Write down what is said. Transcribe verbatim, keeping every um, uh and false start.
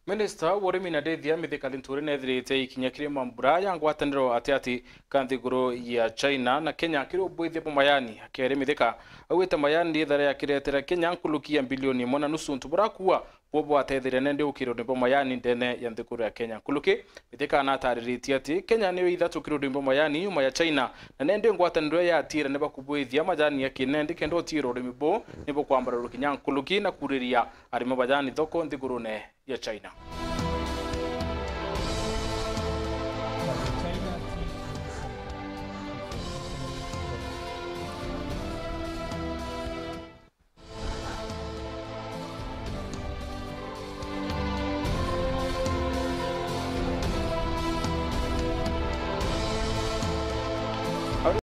Minista wa urimi na ndithia Mithika Linturi nethirite ikinya kiri mambura ya ngwataniro atiati ka nthiguru ya China na Kenya kiri ubuithia bwa majani. Akeri Mithika, augite majani ni ithara ya kiretera Kenya nkuluki ya bilioni imwe na nusu untu burakua bwo bwatetheria nende ukironi bwa majani ndene ya nthiguru ya Kenya. Nkuluki Mithika anatariritie ati Kenya niyo ithatu kironi bwa majani nyuma ya China, na nende ngwataniro ya atira ni bakubuithia majani ya kinendi kenda utira urimi buu ni bukwambaruru kinya nkuluki na kuriria arimi majani thoko nthigurune ya China.